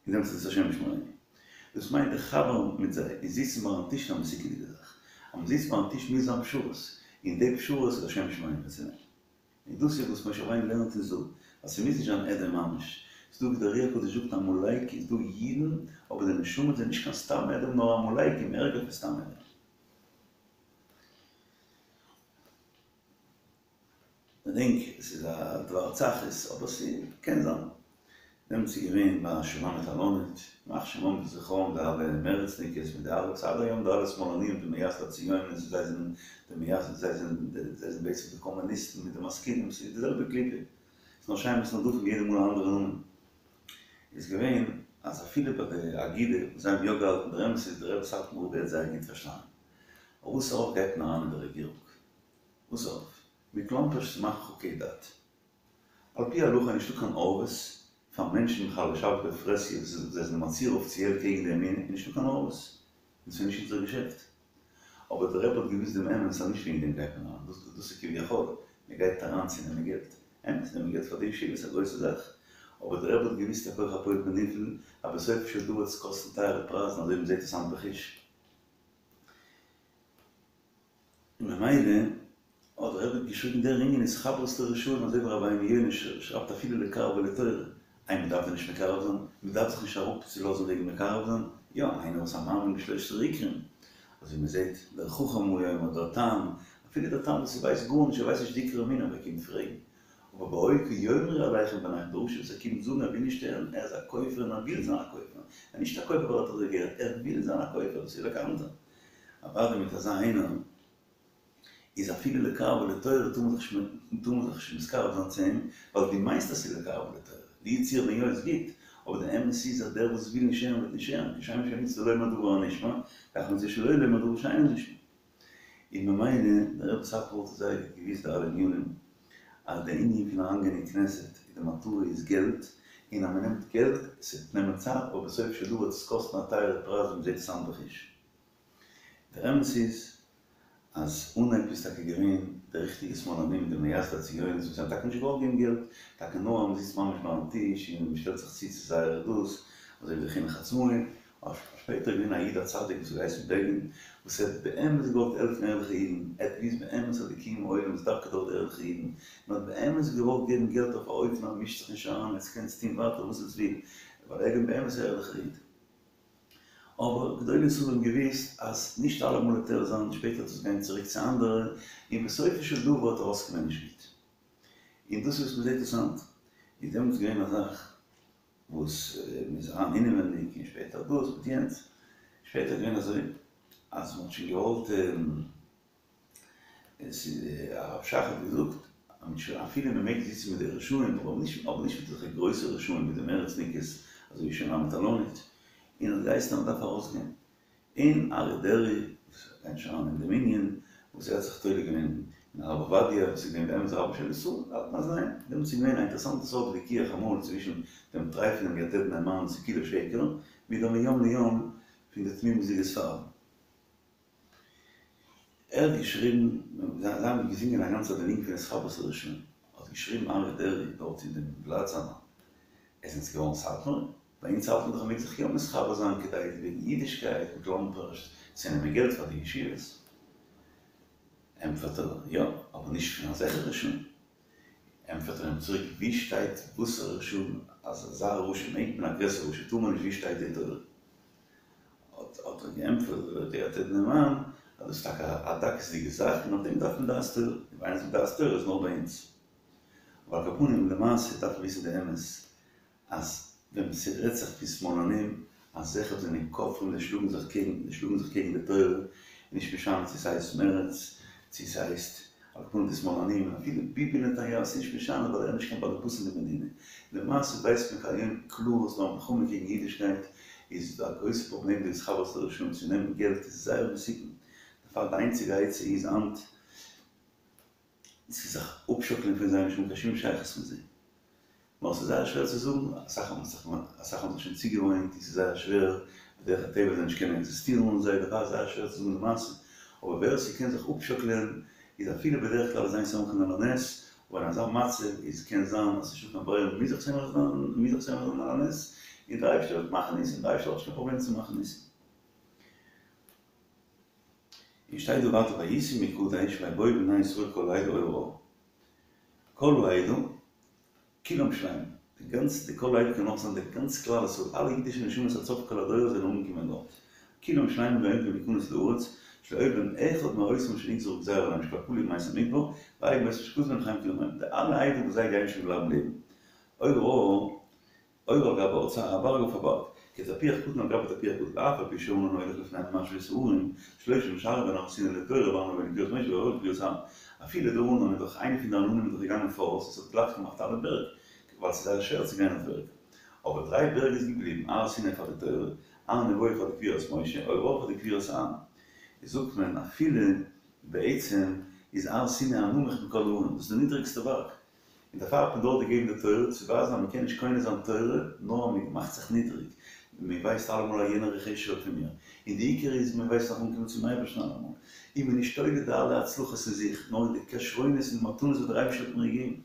דעמאלטס איז עס השם ישמרינו. דאס מיינט די חבר מיט זיי און זיצן ביים טיש איז א מסוכנ'דיגע זאך. אז מ'זיצט ביים טיש מוז זיין פשרות, און די פשרות איז השם ישמרינו צו נעמען. און דאס איז וואס משה רבינו לערנט אונז דא, אז ס'מוז נישט זיין אדום ממש. ס'איז דא ווי דער אר"י הקדוש זאגט עמלק איז דא אידן, אבער די נשמות זענען נישט קיין סתם אדום נאר עמלקים, ערגער פון סתם אדום. כ'דענק עס איז א דבר צחות אבער ס'קען זיין. דעמאלטס איז געווען ביי שולמית אלונית, ימח שמם וזכרם די אלע מרצ'ניקעס מיט די אלע וואס עד היום די אלע שמאלנים די מייסדי הציונות זיי זענען די מייסדים זיי זענען זיי זענען בעצם די קאמוניסטן מיט די משכילים ס'איז די זעלבע קליפה ס'איז נאר שמות נרדפים יעדע מאל א אנדערע נאמען איז געווען אז אפילו ביי די אגודה וואס זיי האבן יא געהאלטן דער אמת איז דער רבי סאטמאר רב האט זייער גוט פארשטאנען אויף וואס ארויף גייט מען אריין אין די רעגירונג וואס ארויף? מכלומרשט צו מאכן חוקי דת. על פי הלכה איז נישטא קיין ערבות פאר מענטשן מחללי שבת בפרהסיא וואס זיי זענען מצהיר אפיציעל קעגן די אמונה איז נישטא קיין ערבות און ס'איז נישט אונזער געשעפט. אבער דער רבי האט געוויסט דעם אמת אז נישט וועגן דעם גייט מען אריין, דאס דאס איז כביכול, מען גייט אריין צו נעמען געלט. אמת, נעמען געלט פאר די ישיבה איז א גרויסע זאך, אבער דער רבי האט געוויסט א כח הפועל בנפעל אז בסופו של דבר וועט עס קאסטן טייערע פרייזן אזוי ווי מ'זעט עס היינט בחוש. און ממילא האט דער רבי געשריגן דער ענין איז התחברות לרשעים אזוי ווי רבינו יונה שרייבט אפילו לקרבה לתורה, איי מען דארף דען נישט מקרב זיין? מען דארף זיך נישט אראפ צו לאזן וועגן מקרב זיין? יא איינער וואס א מאמין בשלושת עיקרים, אזוי מען זעט דער חכם הוא אומר דער תם, אפילו דער תם וואס ווייסט גארנישט ער ווייסט נישט די עיקר אמונה אבער ער קומט פרעגן, אבער והיה כי יאמרו אליכם בניכם דער רשע וואס ער קומט זאגן ער וויל נישט הערן ער איז א כופר און ער וויל זיין א כופר, ער איז נישט א כופר ווייל ער האט אזוי געהערט, ער וויל זיין א כופר דאס איז לקנתר. אוודאי מיט אזא איינער איז אפילו לקרבה לתורה טאר מען זיך טאר מען זיך נישט מתקרב זיין צו אים, ווייל דו מיינסט אז ס'איז לקרבה לתורה, לו יצויר ווען יא איז גוט, אבער די אמת איז אז דער וואס וויל נישט הערן וועט נישט הערן, כשם שמצוה לומר דבר הנשמע, כך מצוה שלא לומר דבר שאינו נשמע. און ממילא, דער רבי סאטמאר האט זייער גוט געוואוסט די אלע ענינים, אז די ענין פון אריינגיין אין כנסת איז די מטרה איז געלט, און אז מ'נעמט געלט, ס'וועט נעמען צייט, אבער בסופו של דבר וועט עס קאסטן א טייערע פרייז ווי מ'זעט עס היינט בחוש. דער אמת איז אז אנהייב איז טאקע געווען די ריכטיגע שמאלנים די מייסדי הציונות וואס האבן טאקע נישט געוואלט געבן געלט, טאקע נאר אז מ'זיצט ממש ביים טיש און מ'שטעלט זיך צו צו זייערע דאס, אזוי ווי די חינוך עצמאי, אבער שפעטער איז געווען א איד א צדיק וואס האט געהייסן בעגין וואס ער האט באמת געוואלט העלפן ערליכע אידן, ער האט געוויסט באמת אז די קיום העולם איז דווקא דורך די ערליכע אידן, און האט באמת געוואלט געבן געלט אויף א אופן אז מ'מישט זיך נישט אריין, עטס קענטס טון ווייטער וואס עטס וויל, ווייל ער איז געווען באמת א ערליכער איד. אבער גדולי ישראל האבן געוואוסט אז נישט אלעמאל וועט ער זיין, שפעטער וועט עס גיין צוריק צו אנדערע, און בסופו של דבר וועט ארויסקומען נישט גוט. און דאס איז וואס מ'זעט עס היינט. איז דעמאלטס געווען א זאך וואס מ'איז אריין אינעווענדיג און שפעטער דאס מיט יענץ. שפעטער איז געווען אזוי אז מ'האט שוין געוואלט. עס איז הרב שך האט געזאגט אפילו מען מעג זיצן מיט די רשעים אבער נישט אבער נישט מיט אזעלכע גרויסע רשעים ווי די מרצניקעס אזוי ווי שולמית אלונית און האט געהייסן אז מען דארף ארויסגיין און אריה דרעי וואס גייט נישט אריין אין דעם ענין וואס ער האט זיך תולה געווען אין הרב עובדיה וואס איז געווען באמת רבן של ישראל האלטן אז ניין דעמאלטס איז געווען א אינטערעסאנטע סארט וויכוח אמאל צווישן דעם טרייפענעם יתד נאמן וואס איז כולו שקר מיט דעם מיום ליום פון די תמימות'דיגע ספרדים. ער האט געשריבן, זיי האבן געזינגען א גאנצע די ניגון פון התחברות לרשעים, האט געשריבן אריה דרעי דארט אין דעם בלאט זיינער, עס זענטס געווארן סאטמאר? ביי אונז האלט מען דאך מ'מעג זיך יא מתחבר זיין כדי וועגן אידישקייט מיט לאמפערשט צו נעמען געלט פאר די ישיבות. ענטפערט ער, יא, אבער נישט פון אזעלכע רשעים. ענטפערט ער אים צוריק, ווי שטייט וואסערע רשעים, אז אזא רשע מעג מען א גרעסערע רשע טאר מען נישט ווי שטייט די תורה? האט ער געענטפערט דער יתד נאמן אז דאס איז טאקע א דקות'דיגע זאך און אויף דעם דארף מען דעת תורה, און ווען איינער זאגט דעת תורה איז נאר ביי אונז. אבער על כל פנים למעשה דארף מען וויסן די אמת אז ווען ס'רעדט זיך פון שמאלנים אזעלכע וואס זענען כופרים זיי שלאגן זיך קעגן זיי שלאגן זיך קעגן די תורה און נישט משנה צו ס'הייסט מרצ צו ס'הייסט על כל פנים די שמאלנים און אפילו ביבי נתניהו ס'איז נישט משנה ווייל ער איז נישט קיין באלעבאס אין די מדינה. למעשה ווייסט מען כהיום קלאר אז ס'דא א מלחמה קעגן אידישקייט איז דא א גרויסע פראבלעם די התחברות לרשעים צו נעמען געלט איז זייער מסוכן דערפאר די איינציגע עצה איז היינט צו זיך אפשאקלען פון זיי נישט האבן קיין שום שייכות מיט זיי. נאר ס'איז זייער שווער צו זאגן, אסאך האבן זיך אסאך האבן זיך שוין צוגעוואוינט און ס'איז זייער שווער, בדרך הטבע זיי נישט קענען עקזיסטירן אן זיי, דערפאר איז זייער שווער צו זאגן די מעשה, אבער ווער ס'קען זיך אפשאקלען איז אפילו בדרך כלל איז אין סומכין על הנס, אבער אין אזא מצב איז קען זיין אז ס'נישטא קיין ברירה מ'מוז זיך סומך זיין, מ'מוז זיך סומך זיין על הנס, און דער אייבערשטער וועט מאכן ניסים, דער אייבערשטער האט נישט קיין פראבלעם צו מאכן ניסים. און שטייט דא ווייטער ויסעו מקדש ויבואו בני ישראל כל העדה הורה הר, כל העדה, כולם שלמים, די גאנצע די כל העדה קען אויך זיין די גאנץ כלל ישראל, אלע אידישע נשמות עד סוף כל הדורות זענען אנגעקומען דארט, כולם שלמים והעומדים להיכנס לארץ, שלא היה בהם אחד מאותם שנגזרה גזירה עליהם שכבר כלו ימות המדבר, ואין מאותם שכתוב בהם חיים כולם הם, די אלע עדה וואס זיי גייען שוין בלייבן לעבן. הור ההר הור על גבי הר, א בארג אויף א בארג, כתפוח קטן על גבי תפוח גדול, ואף על פי שהענן הולך לפניהם ומשווה את ההרים, שלושה שערו בין הר סיני לתורה והר נבו לקבורת משה והור ההר לקבורת אהרן. אפילו דער ענן איז דאך איינע פון די עננים איז דאך געגאנגען פאראויס עס האט גלייך געמאכט אלע בערג, ווייל ס'איז זייער שווער צו גיין אויף בערג. אבער דריי בערג איז געבליבן, הר סיני פאר די תורה, הר נבו פאר די קבורת משה, הור ההר פאר די קבורת אהרן. איז זאגט מען אפילו בעצם איז הר סיני הנמוך מכל ההרים, דאס איז די נידריגסטע בארג, און דערפאר האט מען דארט געגעבן די תורה, צו ווייזן אז מען קען נישט קונה זיין תורה נאר אז מען מאכט זיך נידריג, מען ווייסט אלעמאל אז יענער איז חשוב'ער פון מיר, און די עיקר איז מען ווייסט נאך אנקומען צום אייבערשטן אלעמאל, און מען איז נישט תולה די אלע הצלחות אין זיך, נאר אין די כשרונות און די מתנות וואס דער אייבערשטער האט מיר געגעבן.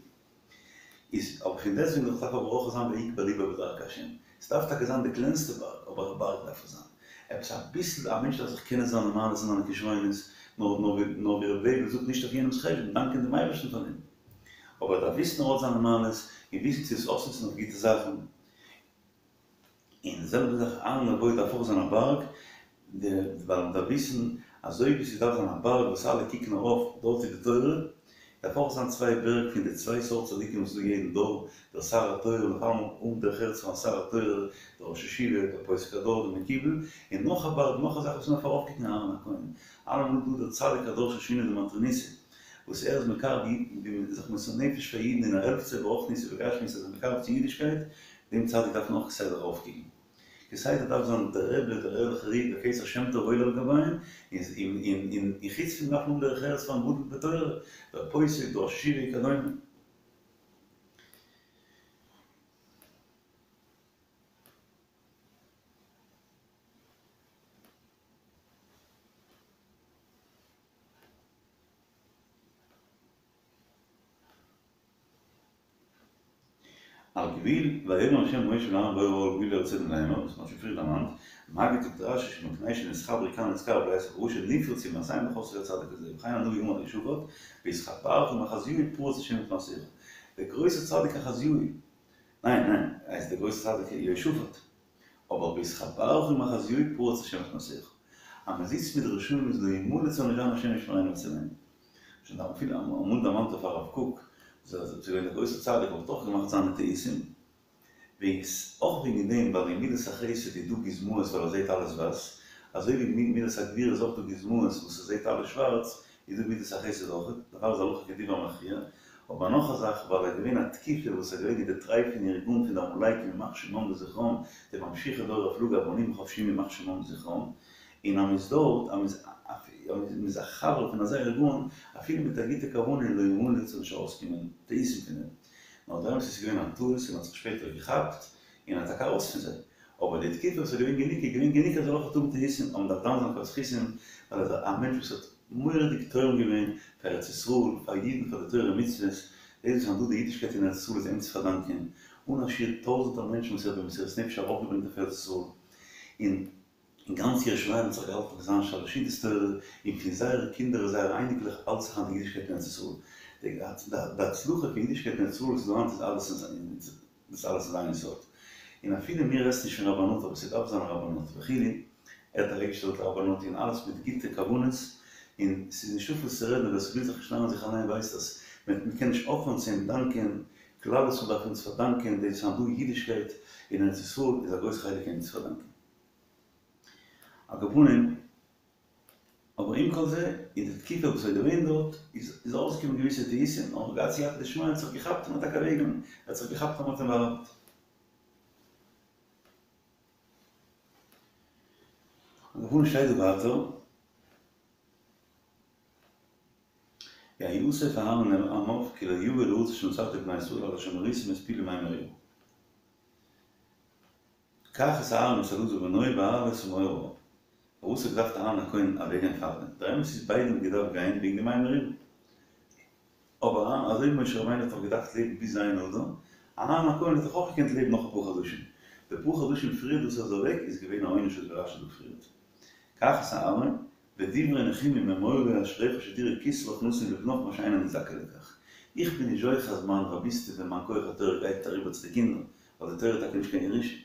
איז אבער פון דעסטוועגן דאך דארף אבער אויך זיין ויקבע לבו בדרכי השם, עס דארף טאקע זיין די קלענסטע בארג, אבער א בארג דארף עס זיין, עפעס אביסל, א מענטש דארף זיך קענען זיינע מעלות און זיינע כשרונות, נאר נאר ווי ר' לייבל זאגט נישט אויף יענעמ'ס חשבון, דאנקען דעם אייבערשטן פאר דעם. אבער ער דארף וויסן ער האט זיינע מעלות, און וויסן צו עס אויסנוצן אויף גוטע זאכן. און די זעלבע זאך הר נבו דארף אויך זיין א בארג, ווייל מען דארף וויסן אזוי ווי ס'דארף זיין א בארג וואס אלע קוקן ארויף, דארט איז די תורה, דארף אויך זיין צוויי בערג פון די צוויי סארט צדיקים וואס איז דא יעדן דור, דער שר התורה און אויף אלעמאל האבן דרך ארץ פארן שר התורה, דער ראש ישיבה, דער פוסק הדור, דער מקובל, און נאך א בארג, נאך א זאך וואס מען דארף ארויפקוקן אהרן הכהן, אלעמאל דא דער צדיק הדור של שינוי די מטרוניתא, וואס ער איז מקרב אידן, ווי מען איז זיך מוסר נפש פאר אידן און ער העלפט זיי ברוחניות ובגשמיות איז ער מקרב צו אידישקייט, דעם צדיק דארף מען אויך כסדר ארויפקוקן. כסדר דארף זיין דער רבי, דער ערליכער איד, דער כתר שם טוב עולה על גביהם, און און און חוץ פון דארף מען האבן דרך ארץ פארן גדול בתורה, דער פוסק, דער ראש ישיבה וכדומה. על גבול, ויאמר השם אל משה ואל אהרן בא אל גבול ארץ אדום לאמר, וואס מ'האט שוין פריער דערמאנט, מגיד זאגט רשי שמפני שנתחברו כאן נזכר בלית אברשה נפרצו מעשיהם וחסרו הצדיק הזה וכן הנביא אמר על יהושפט בהתחברך עם אחזיהו פרוץ השם את מעשיך דער גרויסער צדיק אחזיהו ניין ניין ער איז דער גרויסער צדיק יהושפט אבער בהתחברך עם אחזיהו פרוץ השם את מעשיך אז מען זיצט מיט די רשעים איז לא ימלט זאל נישט זיין השם ישמרינו ויצילנו. שוין אפילו אמאל דערמאנט אויף הרב קוק וואס איז געווען דער גרויסער צדיק אבער האט אויך געמאכט זיינע טעותים וועגן אויך וועגן דעם ווייל אין מידת החסד איז דא גוזמאות ווייל ער זעט אלעס ווייס, אזוי ווי אין מידת הגבורה איז אויך דא גוזמאות וואס ער זעט אלעס שווארץ, איז דא מידת החסד אויך, דערפאר איז הלכה כדברי המכריע, אבער נאך א זאך ווייל ער איז געווען א תקופה וואס ער איז געווען אין די טרייפענע ארגון פון די עמלקים ימח שמם וזכרם, די ממשיכי דור הפלגה הבנים החפשיים ימח שמם וזכרם, און אז מ'איז דארט, אז מ'איז א חבר פון אזא ארגון, אפילו מיט א גוטע כוונה לא ימלט זאל נישט ארויסקומען טעותים פון דעם. נאר דער אמת איז ס'איז געווען א טעות און האט זיך שפעטער געכאפט און האט טאקע ארויס פון זיי. אבער די תקופה וואס איז געווען גענוג איז געווען גענוג אז זאל אויך האבן טעותים אבער מ'דארף דן זיין לכף זכות ווייל ער איז א מענטש וואס האט מורא'דיג תורם געווען פאר ארץ ישראל, פאר אידן, פאר די תורה ומצוות, דאס וואס היינט דא די אידישקייט אין ארץ ישראל איז אים צו פארדאנקען, אן א שיעור טויזענטער מענטשן וואס ער האט במסירות נפש ארויפגעברענגט אויף ארץ ישראל, און און גאנץ ירושלים האט זיך געהאלטן פון זיין שלש סעודות תורה, און פון זייערע קינדער און זייערע אייניקלעך האלט זיך היינט די אידישקייט אין ארץ ישראל. די הצלחה פון אידישקייט אין ארץ ישראל וואס איז דא היינט איז אלעס אין דאס אלעס איז זיין יסוד. און אפילו מיר עסן נישט פון רבנות אבער ס'דארף זיין א רבנות וכו', ער האט אוועקגעשטעלט א רבנות און אלעס מיט גוטע כוונות, און ס'איז נישטא וואס צו רעדן ווער ס'וויל זיך נישט נארן זיך אליין ווייסט אז מ'קען נישט אויפהערן צו אים דאנקען, כלל ישראל דארף אונז פארדאנקען דאס היינט דא אידישקייט אין ארץ ישראל איז א גרויס חלק אים צו פארדאנקען. על כל פנים, אבער עם כל זה, אין די תקופה וואס ער איז געווען דארט, איז איז ארויסגעקומען געוויסע טעותים, אבער געהאט סייעתא דשמיא, האט זיך געכאפט און האט טאקע אוועקגענומען, ער האט זיך געכאפט אז מען האט אים בא'עוול'ט. על כל פנים שטייט דא ווייטער, ויאסף אהרן אל עמיו כי לא יבא אל הארץ אשר נתתי לבני ישראל עד אשר מריתם את פי למי מריבה. קח את אהרן ואת אלעזר בנו והעל את מאור ההר. פארוואס האט געדארפט אהרן הכהן אוועקגיין פארדעם? דער אמת איז ביידע האבן געדארפט גיין וועגן די מי מריבה. אבער אהרן אזוי ווי משה רבינו האט דאך געדארפט לעבן ביז ז' אדר, אהרן הכהן האט דאך אויך געקענט לעבן נאך אפאר חדשים. די פאר חדשים פריער וואס ער איז אוועק איז געווען א עונש אזוי ווי רשי זאגט פריערט. קח את אהרן, ודברי נחומים אמור לו אשריך שתראה כתרך נתון לבנך מה שאין אני זכאי לכך. איך בין נישט זוכה אז מיין רביסטעווע מיין כח התורה גייט אריבער צו די קינדער, ווייל די תורה איז טאקע נישט קיין ירושה.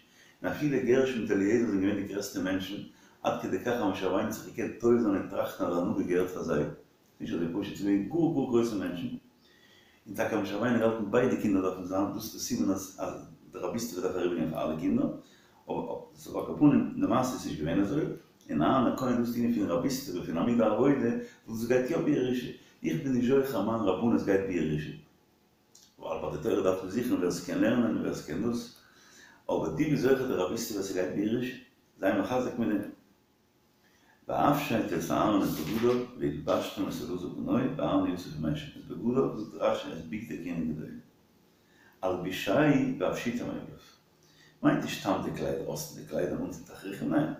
און אפילו גרשון מיט אליעזר זענען געווען די גרעסטע מענטשן, עד כדי כך אז משה רבינו האט זיך געקענט טועה זיין און טראכטן אז די הנהגה געהערט פאר זיי. ס'איז נישט אזוי פשוט, ס'איז געווען גאר גאר גרויסע מענטשן. און טאקע האט משה רבינו געהאלטן ביידע קינדער דארפן זיין, דאס איז די סימן אז אז די רביסטעווע דארף אריבערגיין פאר אלע קינדער. אבער על כל פנים, למעשה איז נישט געווען אזוי, און אהרן הכהן דאס ענין פון רביסטעווע פון עמוד העבודה, וואס דאס גייט יא בירושה, איך בין נישט זוכה אז מיין רבנות גייט בירושה, ווייל ביי די תורה דארף מען זוכן ווער ס'קען לערנען און ווער ס'קען דאס, אבער דו ביסט זוכה די רביסטעווע ס'גייט בירושה, זיי מחזק מיט דעם. והפשט את אהרן את בגדיו והלבשתם את אלעזר בנו ואהרן יאסף עם אשם את בגדיו זאגט רשי את בגדי כהונה גדולה הלבישהו והפשיטם מעליו מיינט נישט סתם די קליידער אויסטון די קליידער און אנטון תכריכים ניין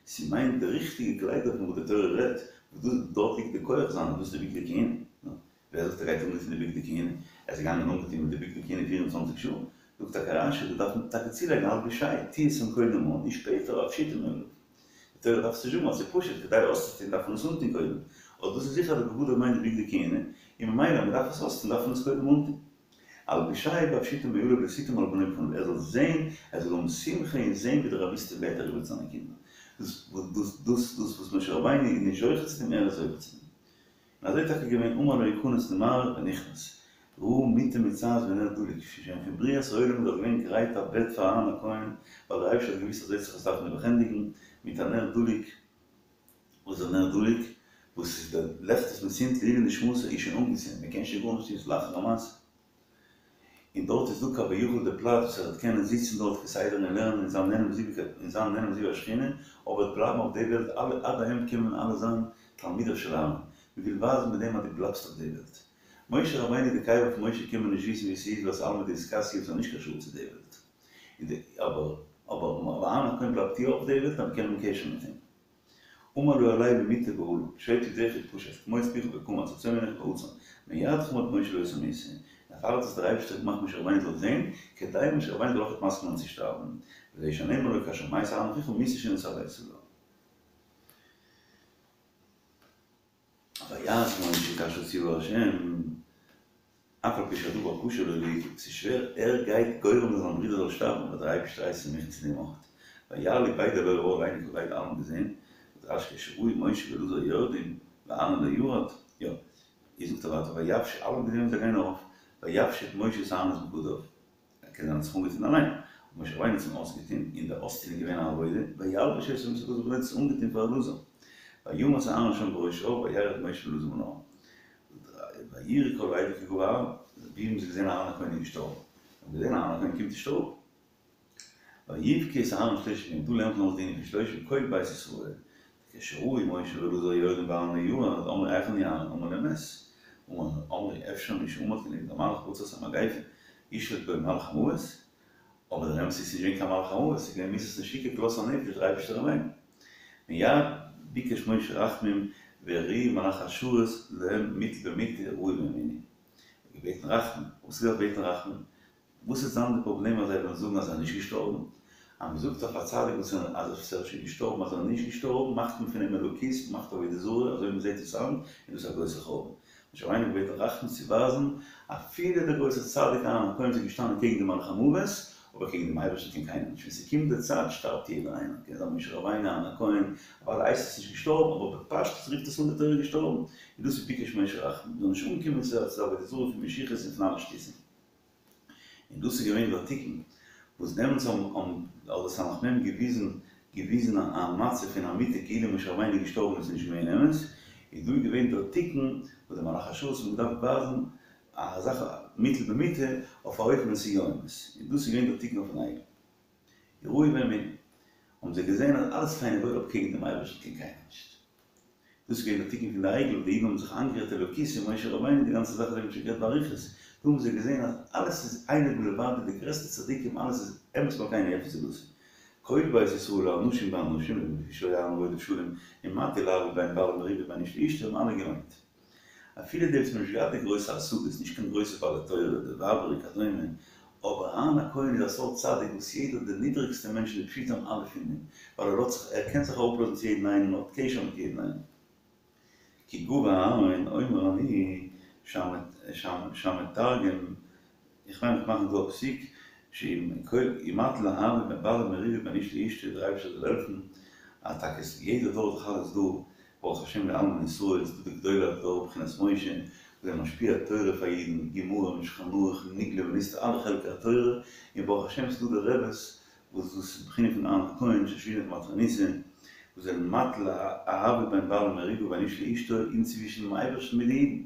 ס'מיינט די ריכטיגע קליידער פון וואס די תורה רעדט וואס דאס דארט ליגט די כח זיינע דאס איז די בגדי כהונה נו ווער זאגט ער גייט אנגעטון די בגדי כהונה ער איז געגאנגען אנגעטון מיט די בגדי כהונה פֿיר און צוואַנציק שעה זאגט טאקע רשי דא דארף מען טאקע צולייגן הלבישהו טוה עס אים קודם אן און שפעטער והפשיטם מעליו די תורה דארף עס נישט זאגן ווייל ס'איז פשוט, כדי אויסצוטון דארף מען עס אנטון קודם, אבער דאס איז זיכער אז די בגדיו מיינט די בגדי כהונה, און ממילא אז מ'דארף עס אויסטון דארף מען עס קודם אנטון. הלבישהו והפשיטם מעליו לשיתם על בנו בפניו, ער זאל זען, ער זאל האבן שמחה און זען ווי די רביסטעווע גייט אריבער צו זיינע קינדער. דאס דאס דאס דאס וואס משה רבינו איז נישט זוכה צו דעם, ער איז זוכה צו דעם. און אזוי טאקע געווען אמר לו יכנס למערה ונכנס ראה מיטה מוצעת ונר דלוק שוין פון בריאת העולם איז דאך געווען גרייט א בעט פאר אהרן הכהן ווייל דער אייבערשטער האט געוואוסט אז ער וועט זיך עס דארפן נעבעך ענדיגן מיט א נר דלוק וואס איז דער נר דלוק וואס איז דער לעכט וואס מען צינדט לעילוי נשמתו איז שוין אנגעצינדן מען קען שוין גארנישט טון ס'איז לאחר המעשה. און דארט איז דא כביכול די פלאץ וואס ער וועט קענען זיצן דארט כסדר און לערנען און זיין נהנה מזיווג און זיין נהנה מזיו השכינה, אבער וועט בלייבן אויף די וועלט אלע עד היום קען מען אלע זיין תלמידיו של אהרן, מען וויל ווייזן מיט דעם אז דו בלייבסט אויף די וועלט. משה רבינו די קבר פון משה קען מען נישט וויסן ווי ס'איז ווייל ס'איז עלמא דאתכסיא ס'איז נישט קיין שול צו די וועלט. און די אבער אבער אהרן הכהן בלייבט יא אויף די וועלט אז מען קען האבן קשר מיט אים. אמר לו עלה מטה באהלה, פשוט ידך ופשט, קמוץ פיך וקמץ, עצום עיניך ועצום, מיד חמק משה לאותה מיתה, דערפאר האט עס דער אייבערשטער געמאכט משה רבינו זאל זען, כדי משה רבינו זאל אויכעט מסכים זיין צו שטארבן, וזה שנאמר לו כאשר מת אהרן אחיך מיתה שנצטווית עליו. ויעש משה כאשר ציוה השם, אף על פי שהדבר קשה לו לעיכול, ס'איז שווער, ער גייט גורם זיין זיין ברודער זאל שטארבן, אבער דער אייבערשטער הייסט אים מכין צו דעם אויכעט. ויעלו ביי אל ההר לעיני כל העדה אלע האבן געזען, זאגט רש"י כשראו משה ואלעזר יורדים ואהרן לא ירד, יא, איז זאגט ער ווייטער ויפשט, אלע האבן געזען ווי זיי גייען ארויף, ויפשט משה את אהרן את בגדיו, ער קען זיין האט זיך אנגעטון אליין, אבער משה רבינו האט אים אויסגעטון, און דער אויסטון איז געווען א עבודה, וילבש אותם את אלעזר בנו האט עס אנגעטון פאר אלעזר, וימת אהרן שם בראש ההר וירד משה ואלעזר מן ההר. ויראו כל העדה כי גוע אהרן, ווי האבן זיי געזען אהרן הכהן איז געשטארבן? זיי האבן געזען אהרן הכהן קומט נישט אראפ. ויבכו את אהרן שלושים יום, דא לערנט מען אויס די ענין פון שלושים כל בית ישראל, כשראו משה ואלעזר יורדים ואהרן לא ירד, אמרו היכן הוא אהרן, אמרו להם מת, אמרו אפשר מי שעמד כנגד המלאך בעצת המגיפה, ישלוט בו מלאך המוות, אבער דער אמת איז ס'איז נישט געווען קיין מלאך המוות, ס'איז געווען מיתת נשיקה כלות הנפש, דער אייבערשטער אליין. מיד ביקש משה רחמים והראהו מלאכי השרת להם מוטל במיטה יראוהו והאמינו. ער האט געבעטן רחמים, וואס איז געווען בעטן רחמים? וואס וועט זיין די פראבלעם אז זיי וועלן זאגן אז ער איז נישט געשטארבן? אז מען זאגט אויף א צדיק וואס איז אז ער איז שוין געשטארבן אז ער איז נישט געשטארבן מאכט מען פון אים אלוקות, מען מאכט עבודה זרה אזוי ווי מען זעט עס היינט, און דאס איז א גרויסע חורבן. משה רבינו האט געבעטן רחמים צו ווייזן אפילו דער גרויסער צדיק אהרן הכהן איז געשטאנען קעגן די מלאך המוות, אבער קעגן דעם אייבערשטן קען קיינער נישט, ווען ס'קומט די צייט שטארבט יעדער איינער, קען זיין משה רבינו אהרן הכהן, אוודאי הייסט עס נישט געשטארבן, אבער בפשטות רופט עס אן די תורה געשטארבן, און דאס איז ביקש משה רחמים, מ'זאל נישט אנקומען צו עבודה זרה פון משיחות און פון אלע שטותים. און דאס איז געווען דער תיקון וואס דעמאלטס האבן האט די סמך מם געוויזן געוויזן א מצב פון א מיתה כאילו משה רבינו איז געשטארבן און עס איז נישט געווען אמת, איז דא געווען דער תיקון וואס די מלאכי השרת האבן געדארפט ווייזן א זאך מוטל במיטה אויף א אופן ווען ס'איז יא אמת, און דאס איז געווען דער תיקון אויפן עגל. יראוהו והאמינו האבן זיי געזען אז אלעס פיין און וואויל אבער קעגן דעם אייבערשטן קען קיינער נישט. דאס איז געווען דער תיקון פון די עגל, די אידן האבן זיך איינגערעדט אלוקות אין משה רבינו, די גאנצע זאך אזוי ווי מ'האט שוין גערעדט באריכות, דא האבן זיי געזען אז אלעס איז אין עוד מלבדו, די גרעסטע צדיקים אלעס איז אמת מלכינו אפס זולתו. כל בית ישראל האנשים והנשים, לפי שהיה אהרן רודף שלום ומטיל אהבה בין בעל למריבה ובין איש לאשתו האבן אלע געמיינט. אפילו די וואס האבן נישט געהאט די גרויסע השגות, נישט קיין גרויסע בעלי תורה, די ווייבער וכדומה, אבער אהרן הכהן איז א סארט צדיק וואס יעדער די נידריגסטע מענטשן די פשוטים אלע פון אים, ווייל ער לאזט זיך ער קען זיך אראפלאזן צו יעדן איינעם און האט קשר מיט יעדן איינעם. כי גוע אהרן אומר אני שהמתרגם איך מיין איך מאך דא א פסיק שאם ומטיל אהבה בין בעל למריבה בין איש לאשתו דער אייבערשטער זאל העלפן אז טאקע עס יעדע דור איז דאך אלעס דא ברוך השם לאלמן ישראל איז דא די גדולי הדור בחינת משה וואס זענען משפיע תורה פאר אידן גמרא משולחן ערוך נגלה ונסתר אלע חלקי התורה און ברוך השם ס'דא די רעבעס וואס דאס איז בחינה פון אהרן הכהן שושבינה דמטרוניתא וואס זענען מטיל אהבה בין בעל למריבה ובין איש לאשתו און צווישן דעם אייבערשטן מיט די אידן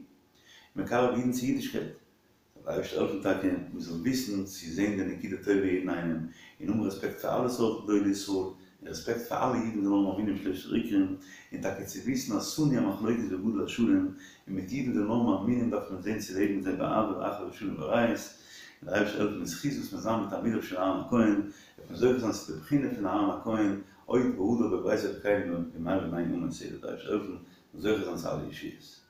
מקרב אידן צו אידישקייט. זאל דער אייבערשטער העלפן טאקע מיר זאלן וויסן צו זען די נקודה טובה יעדן איינעם, און האבן רעספעקט פאר אלע סארט גדולי ישראל, און רעספעקט פאר אלע אידן זאלן האבן מאמינים שלשת עיקרים, און טאקע צו וויסן אז שנאו המחלוקת וגדול השלום, און מיט אידן זאלן האבן מאמינים דארף מען זען צו לעבן מיט זיי באהבה ואחווה ושלום ורעות, און דער אייבערשטער העלפן בזכות וואס מיר זיין מתלמידיו של אהרן הכהן, וועט מען זוכה זיין צו די בחינה פון אהרן הכהן, עוד והדר בבית אלוקינו במהרה בימינו אמן, ס'זאל דער אייבערשטער העלפן זוכה זיין צו אלע ישועות.